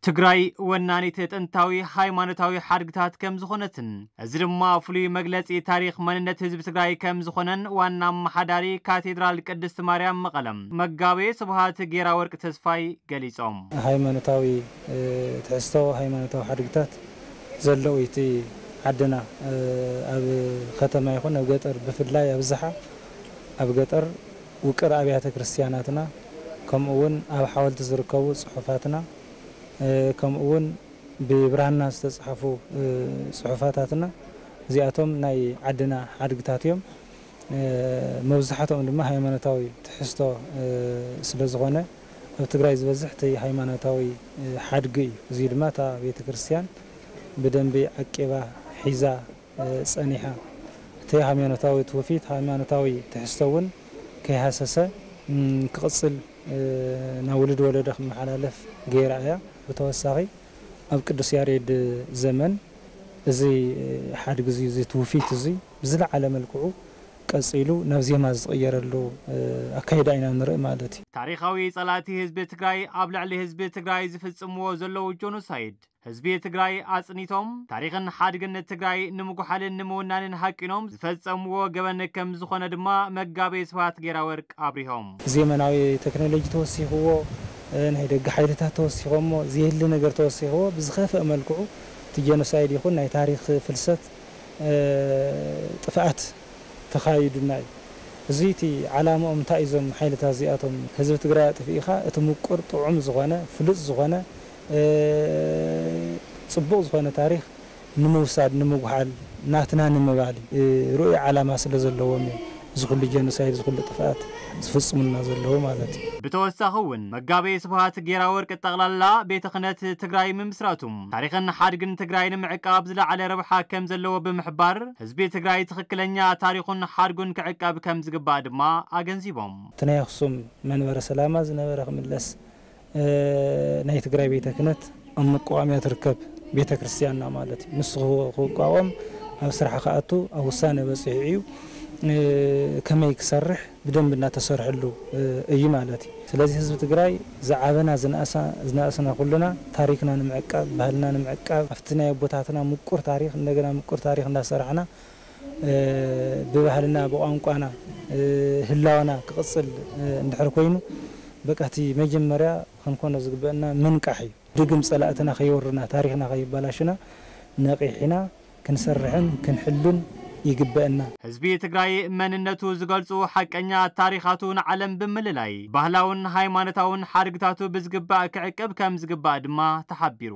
ትግራይ ወናኒት ጥንታዊ ሃይማኖታዊ ሓድግታት ከም ዝኾነትን፣ እዚ ድማ ፍሉይ መግለጺ ታሪኽ መንነት ህዝቢ ትግራይ ከም ዝኾነን ዋና ኣመሓዳሪ ካቴድራል ቅድስት ማርያም መቐለም መጋቤ ስብሃት ጌራ ወርቅ ተስፋይ ገሊጾም። ሃይማኖታዊ፣ እ፣ ትሕዝቶ ሃይማኖታዊ ሓድግታት ዘለዉ እቲ ዓድና፣ እ፣ ኣብ ከተማ ይኹን ኣብ ገጠር፣ ብፍላይ ኣብዝሓ ኣብ ገጠር ውቅር ኣብያተ ክርስቲያናትና፣ ከምኡ እውን ኣብ ሓወልቲ ዝርከቡ ጽሑፋትና፣ እ፣ ከምኡ እውን ብብራና ዝተጻሕፉ፣ እ፣ ጽሑፋታትና፣ እዚኣቶም ናይ ዓድና ሓድግታት እዮም። እ፣ መብዛሕትኦም ድማ ሃይማኖታዊ ትሕዝቶ፣ እ፣ ስለ ዝኾነ፣ ኣብ ትግራይ ዝበዝሕ እቲ ሃይማኖታዊ፣ እ፣ ሓድጊ እዩ። እዚ ድማ እታ ቤተ ክርስቲያን ብደንቢ ዓቂባ ሒዛ፣ እ፣ ጸኒሓ፣ እቲ ሃይማኖታዊ ትውፊት፣ ሃይማኖታዊ ትሕዝቶ እውን ከይሃሰሰ፣ እም፣ ክቕጽል፣ እ፣ ናብ ውሉድ ወለዶ ክመሓላለፍ ገይራ እያ። ብተወሳኺ፣ ኣብ ቅዱስ ያሬድ ዘመን እዚ ሓድጊ እዚ፣ እዚ ትውፊት እዚ ብዝለዓለ መልክዑ ቀጺሉ ናብ ዜማ ዝቕየረሉ፣ እ፣ ኣካይዳ ኢና ንርኢ ማለት እዩ። ታሪኻዊ ጸላእቲ ህዝቢ ትግራይ ኣብ ልዕሊ ህዝቢ ትግራይ ዝፍጽምዎ ዘለዉ ጆኖሳይድ፣ ህዝቢ ትግራይ ኣጽኒቶም ታሪኽን ሓድግን ትግራይ ንምጉሓልን ንምውናንን ሃቂኖም ዝፈጸምዎ ገበን ከም ዝኾነ ድማ መጋቤ ስብሃት ጌራ ወርቅ ኣብሪሆም። ዘመናዊ ቴክኖሎጂ ተወሲኽዎ፣ እ፣ ናይ ደገ ሓይልታት ተወሲኾሞ፣ ዘየድሊ ነገር ተወሲኽዎ፣ ብዝኸፍአ መልክዑ እቲ ጀኖሳይድ ይኹን ናይ ታሪኽ ፍልሰት፣ እ፣ ጥፍኣት ተኻይዱና እዩ። እዚ እቲ ዓላምኦም እንታይ እዩ? እዞም ሓይልታት እዚኣቶም ህዝቢ ትግራይ ኣጥፊእኻ፣ እቲ ምቁር ጥዑም ዝኾነ፣ ፍሉጥ ዝኾነ፣ እ፣ ጽቡቕ ዝኾነ ታሪኽ ንምውሳድ፣ ንምጉሓል፣ ናትና ንምባል እዩ። እ፣ ርኡይ ዓላማ ስለ ዘለዎም እዮም እዚ ኩሉ ጀኖሳይድ፣ እዚ ኩሉ ጥፍኣት ዝፍጽሙልና ዘለዉ ማለት እዩ። ብተወሳኺ እውን መጋቤ ስብሃት ጌራ ወርቅ፣ ጠቕላላ ቤተ ክህነት ትግራይ ምምስራቱ ታሪኽን ሓድግን ትግራይ ንምዕቃብ ዝለዓለ ረብሓ ከም ዘለዎ ብምሕባር፣ ህዝቢ ትግራይ ትኽክለኛ ታሪኹን ሓድጉን ክዕቀብ ከም ዝግባእ ድማ ኣገንዚቦም። እቲ ናይ ኣኽሱም መንበረ ሰላማ ዝነበረ ክምለስ፣ እ፣ ናይ ትግራይ ቤተ ክህነት ኣብ ምቋቋምያ ትርከብ ቤተ ክርስቲያንና ማለት እዩ። ንሱ ክው-፣ ክቋቋም፣ ኣብ ስራሕ ክኣቱ፣ ኣብ ውሳነ በፂሑ እዩ። እ፣ ከመይ ክሰርሕ ብደንቢ እናተሰርሐሉ፣ እ፣ እዩ ማለት እዩ። ስለዚ ህዝቢ ትግራይ ዝዓበና ዝነኣሳ-፣ ዝነኣስና ኩልና ታሪክና ንምዕቃብ፣ ባህልና ንምዕቃብ፣ ኣብቲ ናይ ኣቦታትና ምቁር ታሪክ እንደገና ምቁር ታሪክ እንዳሰራሕና፣ እ፣ ብባህልና፣ ብቋንቋና፣ እ፣ ህላወና ክቕጽል፣ እ፣ እንድሕር ኮይኑ፣ በቃ እቲ መጀመርያ ክንኮኖ ዝግበአና ምንቃሕ እዩ። ድግም ጸላእትና ከይወርና፣ ታሪኽና ከይበላሽና ነቒሕና ክንሰርሕን ክንሕሉን ይግበአና። ህዝቢ ትግራይ መንነቱ ዝገልጹ ሓቀኛ ታሪኻቱ ንዓለም ብምልላይ፣ ባህላውን ሃይማኖታውን ሓድግታቱ ብዝግባእ ክዕቅብ ከም ዝግባእ ድማ ተሓቢሩ።